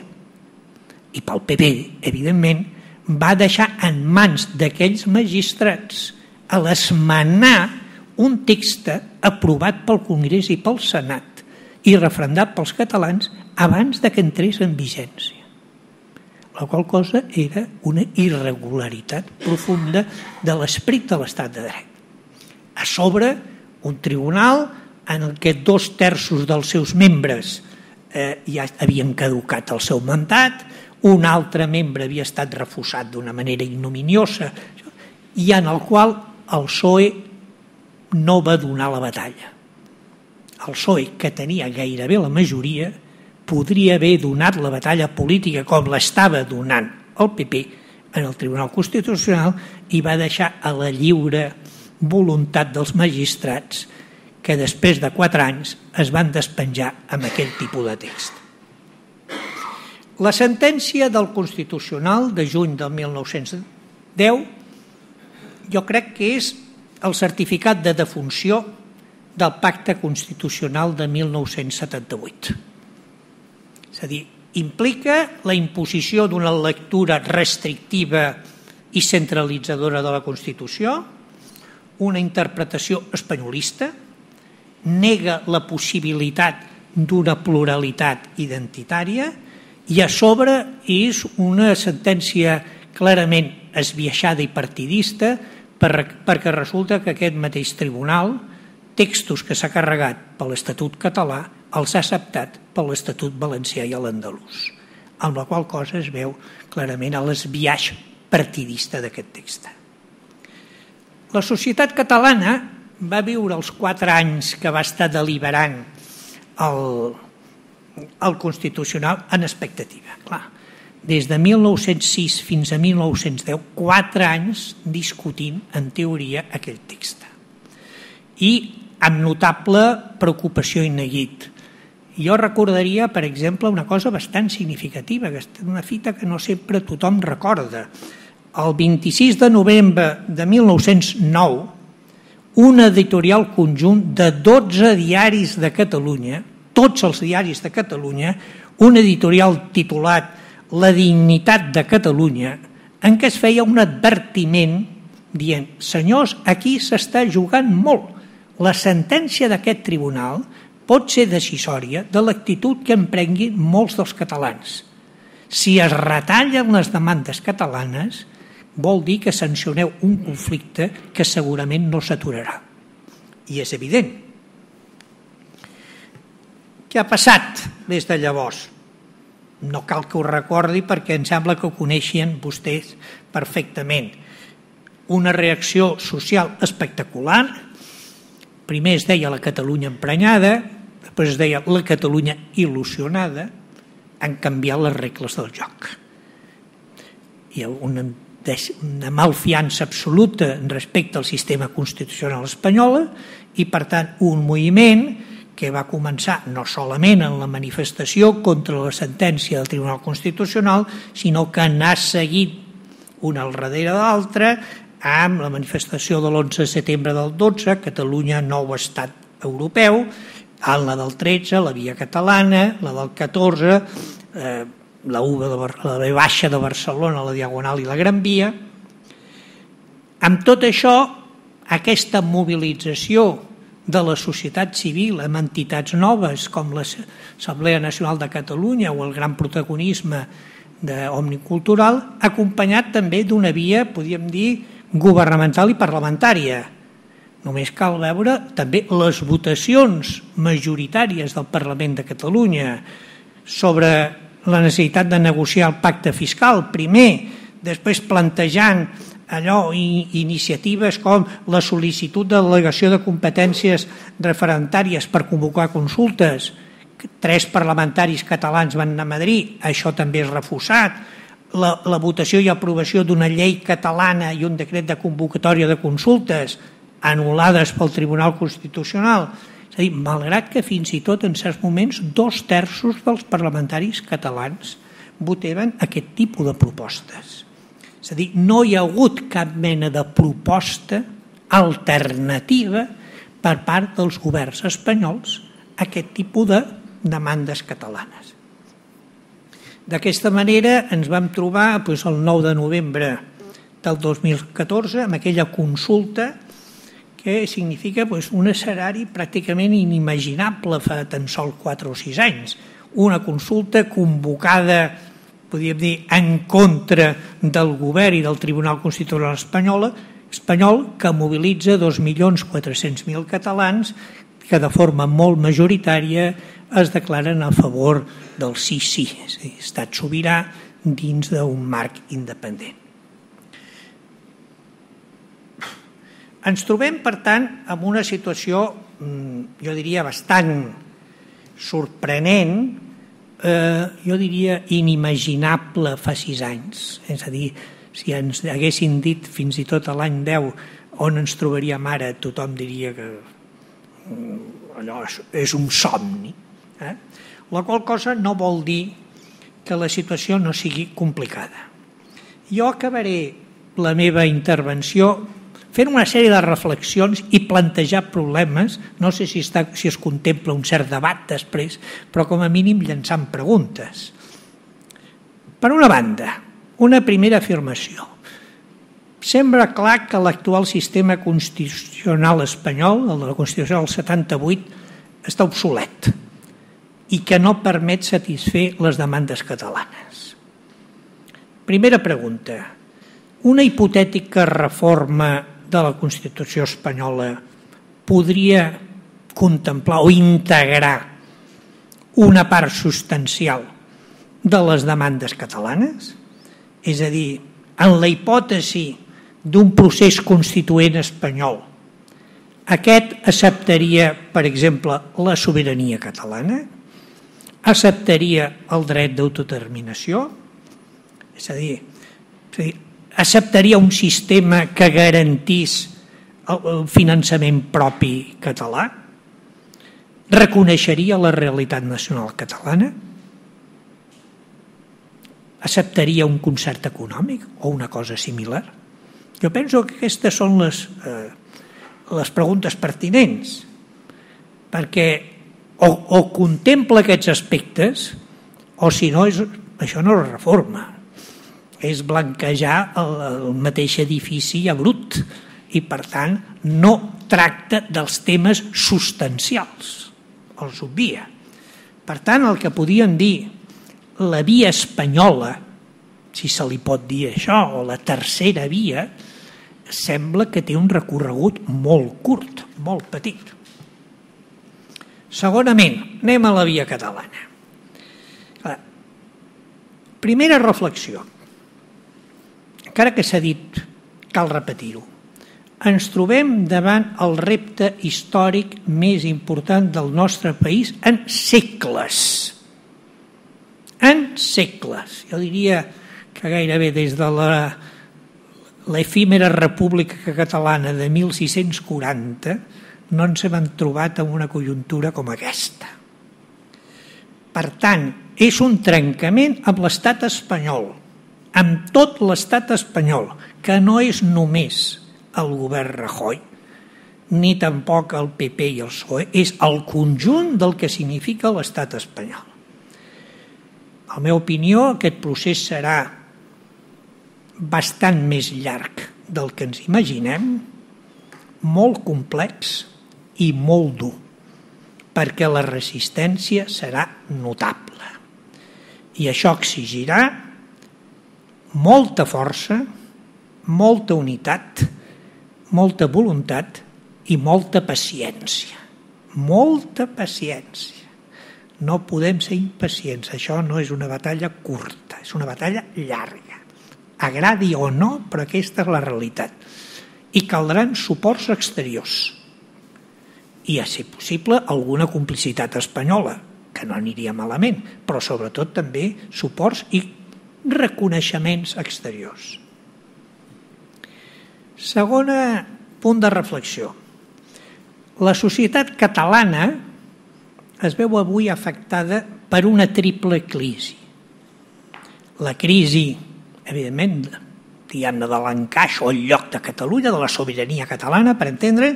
i pel PP, evidentment, va deixar en mans d'aquells magistrats a l'esmenar un text aprovat pel Congrés i pel Senat i referendat pels catalans abans de que entrés en vigència. La qual cosa era una irregularitat profunda de l'esperit de l'estat de dret. A sobre, un tribunal en què 2/3 dels seus membres ja havien caducat el seu mandat, un altre membre havia estat refusat d'una manera ignominiosa i en el qual el PSOE no va donar la batalla. El PSOE, que tenia gairebé la majoria, podria haver donat la batalla política com l'estava donant el PP en el Tribunal Constitucional i va deixar a la lliure voluntat dels magistrats que després de 4 anys es van despenjar amb aquell tipus de text. La sentència del Constitucional de juny del 1910 jo crec que és el certificat de defunció del Pacte Constitucional de 1978. És a dir, implica la imposició d'una lectura restrictiva i centralitzadora de la Constitució, una interpretació espanyolista, nega la possibilitat d'una pluralitat identitària i a sobre és una sentència clarament esbiaixada i partidista perquè resulta que aquest mateix tribunal, textos que s'ha carregat per l'Estatut català, els ha acceptat per l'Estatut valencià i l'andalús, amb la qual cosa es veu clarament l'esbiaix partidista d'aquest text. La societat catalana va viure els 4 anys que va estar deliberant el Constitucional en expectativa. Clar, des de 1906 fins a 1910, 4 anys discutint, en teoria, aquell text. I amb notable preocupació i neguit. Jo recordaria, per exemple, una cosa bastant significativa, una fita que no sempre tothom recorda. El 26 de novembre de 1909, un editorial conjunt de 12 diaris de Catalunya, tots els diaris de Catalunya, un editorial titulat La dignitat de Catalunya, en què es feia un advertiment dient: senyors, aquí s'està jugant molt. La sentència d'aquest tribunal pot ser decisòria de l'actitud que emprenguin molts dels catalans. Si es retallen les demandes catalanes, vol dir que sancioneu un conflicte que segurament no s'aturarà. I és evident. Què ha passat des de llavors? No cal que ho recordi perquè em sembla que ho coneixien vostès perfectament. Una reacció social espectacular. Primer es deia la Catalunya emprenyada, després es deia la Catalunya il·lusionada. Han canviat les regles del joc. Hi ha una malfiança absoluta respecte al sistema constitucional espanyol i, per tant, un moviment que va començar no solament en la manifestació contra la sentència del Tribunal Constitucional, sinó que n'ha seguit una al darrere de l'altra amb la manifestació de l'11 de setembre del 12, Catalunya nou estat europeu, en la del 13, la via catalana, la del 14, la V baixa de Barcelona, la Diagonal i la Gran Via. Amb tot això, aquesta mobilització de la societat civil amb entitats noves com l'Assemblea Nacional de Catalunya o el gran protagonisme d'Òmnium, acompanyat també d'una via, podríem dir, governamental i parlamentària. Només cal veure també les votacions majoritàries del Parlament de Catalunya sobre la necessitat de negociar el pacte fiscal, primer, després plantejant allò, iniciatives com la sol·licitud de delegació de competències referendàries per convocar consultes. 3 parlamentaris catalans van anar a Madrid, això també és refusat. La votació i aprovació d'una llei catalana i un decret de convocatòria de consultes anul·lades pel Tribunal Constitucional. És a dir, malgrat que fins i tot en certs moments 2/3 dels parlamentaris catalans votaven aquest tipus de propostes. És a dir, no hi ha hagut cap mena de proposta alternativa per part dels governs espanyols a aquest tipus de demandes catalanes. D'aquesta manera ens vam trobar el 9 de novembre del 2014 amb aquella consulta que significa un escenari pràcticament inimaginable fa tan sols 4 o 6 anys. Una consulta convocada, podríem dir, en contra del govern i del Tribunal Constitucional espanyol, que mobilitza 2.400.000 catalans que de forma molt majoritària es declaren a favor del sí, és a dir, estat sobirà dins d'un marc independent. Ens trobem, per tant, en una situació, jo diria, bastant sorprenent, jo diria inimaginable fa 6 anys. És a dir, si ens haguessin dit fins i tot a l'any 10 on ens trobaríem ara, tothom diria que allò és un somni. La qual cosa no vol dir que la situació no sigui complicada. Jo acabaré la meva intervenció fent una sèrie de reflexions i plantejar problemes, no sé si es contempla un cert debat després, però com a mínim llançant preguntes. Per una banda, una primera afirmació. Sembla clar que l'actual sistema constitucional espanyol, el de la Constitució del 78, està obsolet i que no permet satisfer les demandes catalanes. Primera pregunta. Una hipotètica reforma de la Constitució espanyola podria contemplar o integrar una part substancial de les demandes catalanes? És a dir, en la hipòtesi d'un procés constituent espanyol, aquest acceptaria, per exemple, la sobirania catalana? Acceptaria el dret d'autodeterminació? És a dir, acceptaria un sistema que garantís el finançament propi català? Reconeixeria la realitat nacional catalana? Acceptaria un concert econòmic o una cosa similar? Jo penso que aquestes són les preguntes pertinents, perquè o contempla aquests aspectes O si no, això no és reforma, és blanquejar el mateix edifici a brut i, per tant, no tracta dels temes substancials, els obvia. Per tant, el que podíem dir la via espanyola, si se li pot dir això, o la tercera via, sembla que té un recorregut molt curt, molt petit. Segonament, anem a la via catalana. Primera reflexió. Encara que s'ha dit, cal repetir-ho. Ens trobem davant el repte històric més important del nostre país en segles. En segles. Jo diria que gairebé des de l'efímera República Catalana de 1640 no ens hem trobat en una conjuntura com aquesta. Per tant, és un trencament amb l'estat espanyol, amb tot l'estat espanyol, que no és només el govern Rajoy, ni tampoc el PP i el PSOE, és el conjunt del que significa l'estat espanyol. En la meva opinió, aquest procés serà bastant més llarg del que ens imaginem, molt complex i molt dur, perquè la resistència serà notable. I això exigirà molta força, molta unitat, molta voluntat i molta paciència. Molta paciència. No podem ser impacients. Això no és una batalla curta, és una batalla llarga. Agradi o no, però aquesta és la realitat. I caldran suports exteriors. I, a ser possible, alguna complicitat espanyola, que no aniria malament, però sobretot també suports i reconeixements exteriors. Segon punt de reflexió. La societat catalana es veu avui afectada per una triple crisi. La crisi, evidentment, diguem-ne, de l'encaix o el lloc de Catalunya, de la sobirania catalana, per entendre,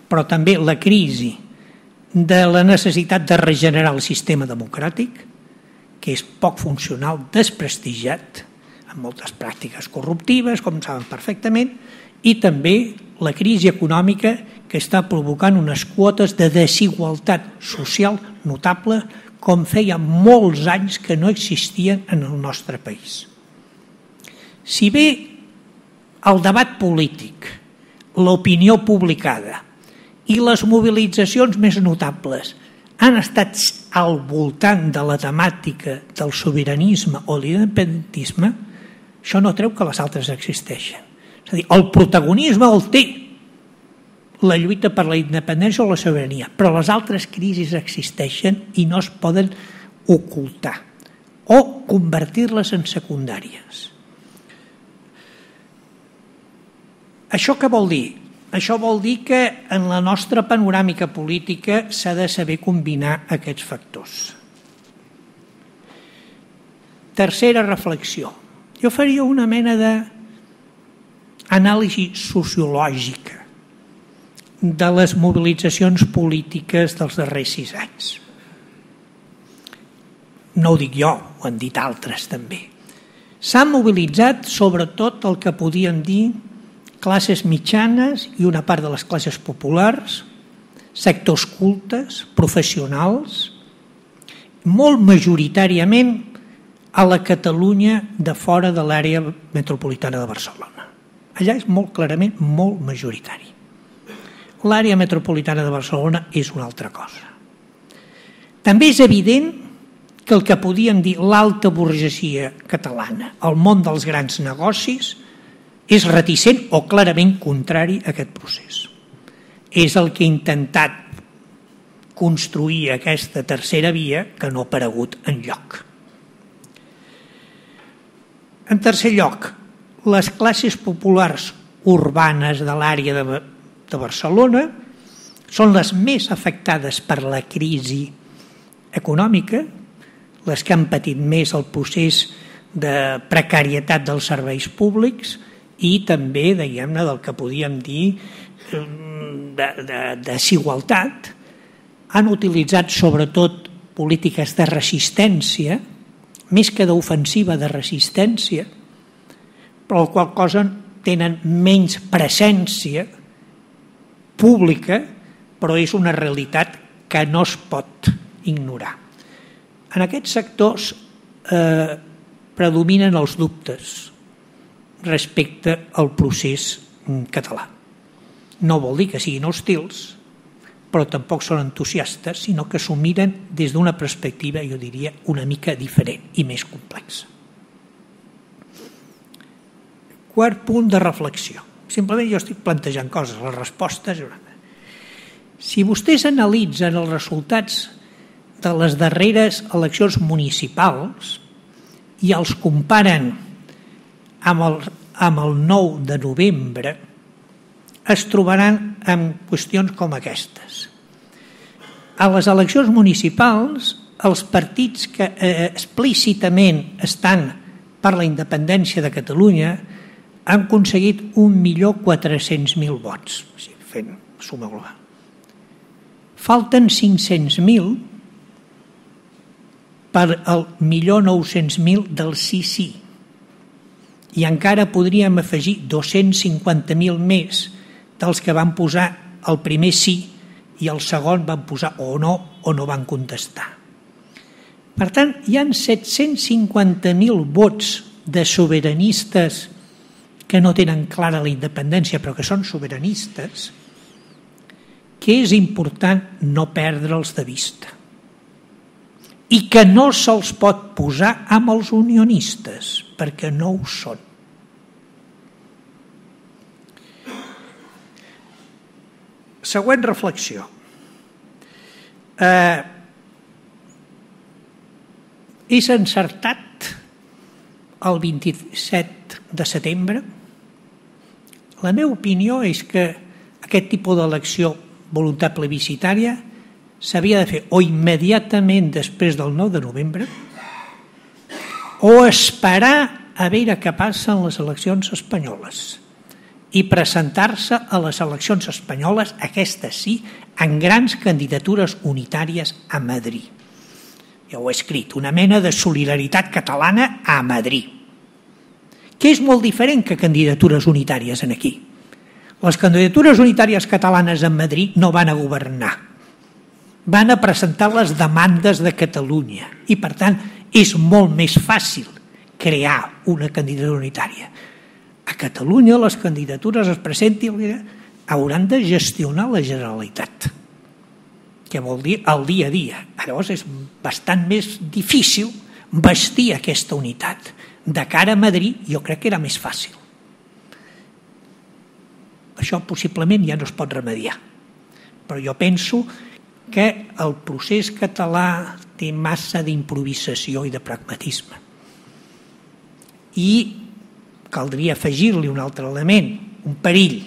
però també la crisi de la necessitat de regenerar el sistema democràtic, que és poc funcional, desprestigiat, amb moltes pràctiques corruptives, com saben perfectament, i també la crisi econòmica que està provocant unes quotes de desigualtat social notable, com feia molts anys que no existien en el nostre país. Si bé el debat polític, l'opinió publicada i les mobilitzacions més notables han estat al voltant de la temàtica del sobiranisme o l'independentisme, això no treu que les altres existeixen. És a dir, el protagonisme el té la lluita per la independència o la sobirania, però les altres crisis existeixen i no es poden ocultar o convertir-les en secundàries. Això què vol dir? Això vol dir que en la nostra panoràmica política s'ha de saber combinar aquests factors. Tercera reflexió. Jo faria una mena d'anàlisi sociològica de les mobilitzacions polítiques dels darrers 6 anys. No ho dic jo, ho han dit altres també. S'ha mobilitzat sobretot el que podíem dir classes mitjanes i una part de les classes populars, sectors cultes, professionals, molt majoritàriament a la Catalunya de fora de l'àrea metropolitana de Barcelona. Allà és molt clarament molt majoritari. L'àrea metropolitana de Barcelona és una altra cosa. També és evident que el que podíem dir l'alta burgesia catalana, el món dels grans negocis, és reticent o clarament contrari a aquest procés. És el que ha intentat construir aquesta tercera via que no ha aparegut enlloc. En tercer lloc, les classes populars urbanes de l'àrea de Barcelona són les més afectades per la crisi econòmica, les que han patit més el procés de precarietat dels serveis públics i també, diguem-ne, del que podíem dir de desigualtat. Han utilitzat sobretot polítiques de resistència més que d'ofensiva, de resistència, però la qual cosa tenen menys presència pública, però és una realitat que no es pot ignorar. En aquests sectors predominen els dubtes respecte al procés català. No vol dir que siguin hostils, però tampoc són entusiastes, sinó que s'ho miren des d'una perspectiva, jo diria, una mica diferent i més complexa. Quart punt de reflexió. Simplement jo estic plantejant coses, les respostes. Si vostès analitzen els resultats de les darreres eleccions municipals i els comparen amb el 9 de novembre, es trobaran amb qüestions com aquestes. A les eleccions municipals, els partits que explícitament estan per la independència de Catalunya han aconseguit 1.400.000 vots, fent suma global. Falten 500.000 per al 1.900.000 del sí. I encara podríem afegir 250.000 més dels que van posar el primer sí i el segon van posar o no van contestar. Per tant, hi ha 750.000 vots de sobiranistes que no tenen clara la independència però que són sobiranistes, que és important no perdre'ls de vista i que no se'ls pot posar amb els unionistes perquè no ho són. Següent reflexió. És encertat el 27 de setembre? La meva opinió és que aquest tipus d'elecció voluntat plebiscitària s'havia de fer o immediatament després del 9 de novembre o esperar a veure què passa en les eleccions espanyoles i presentar-se a les eleccions espanyoles, aquestes sí, en grans candidatures unitàries a Madrid. Ja ho he escrit, una mena de solidaritat catalana a Madrid, que és molt diferent que candidatures unitàries en aquí. Les candidatures unitàries catalanes a Madrid no van a governar, van a presentar les demandes de Catalunya i, per tant, és molt més fàcil crear una candidatura unitària. A Catalunya les candidatures es presentin, hauran de gestionar la Generalitat, que vol dir el dia a dia. Llavors és bastant més difícil vestir aquesta unitat. De cara a Madrid jo crec que era més fàcil. Això possiblement ja no es pot remediar, però jo penso que el procés català té massa d'improvisació i de pragmatisme. I caldria afegir-li un altre element, un perill,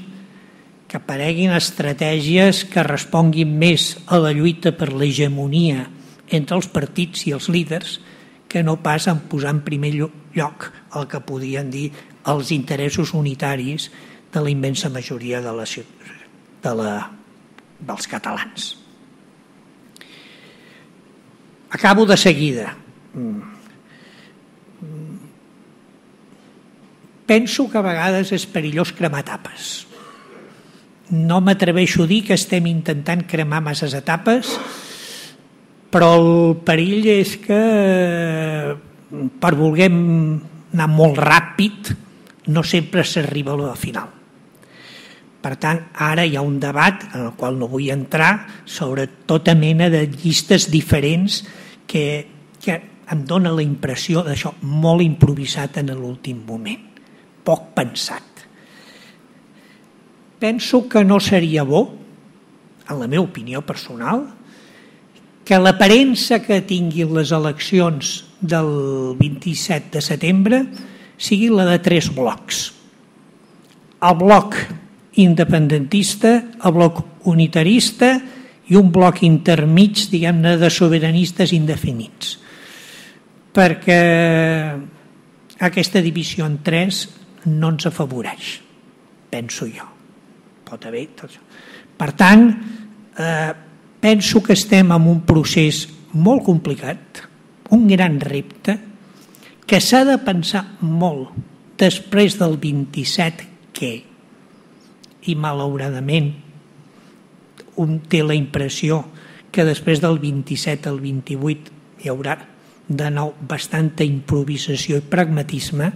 que apareguin estratègies que responguin més a la lluita per l'hegemonia entre els partits i els líders que no pas en posar en primer lloc el que podien dir els interessos unitaris de la immensa majoria dels catalans. Acabo de seguida. Penso que a vegades és perillós cremar etapes. No m'atreveixo a dir que estem intentant cremar masses etapes, però el perill és que per voler anar molt ràpid no sempre s'arriba a la final. Per tant, ara hi ha un debat en el qual no vull entrar sobre tota mena de llistes diferents que em dona la impressió d'això molt improvisat en l'últim moment, poc pensat. Penso que no seria bo, en la meva opinió personal, que l'aparença que tinguin les eleccions del 27 de setembre sigui la de 3 blocs. El bloc independentista, el bloc unitarista i un bloc intermig, diguem-ne, de sobiranistes indefinits. Perquè aquesta divisió en 3 no ens afavoreix, penso jo. Pot haver tot això. Per tant, penso que estem en un procés molt complicat, un gran repte, que s'ha de pensar molt després del 27 què? I malauradament un té la impressió que després del 27 al 28 hi haurà de nou bastanta improvisació i pragmatisme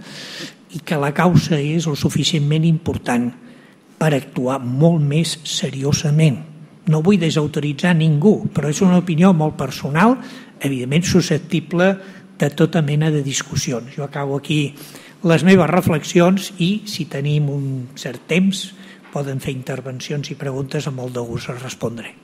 i que la causa és el suficientment important per actuar molt més seriosament. No vull desautoritzar ningú, però és una opinió molt personal, evidentment susceptible de tota mena de discussions. Jo acabo aquí les meves reflexions i, si tenim un cert temps, poden fer intervencions i preguntes, amb molt de gust els respondré.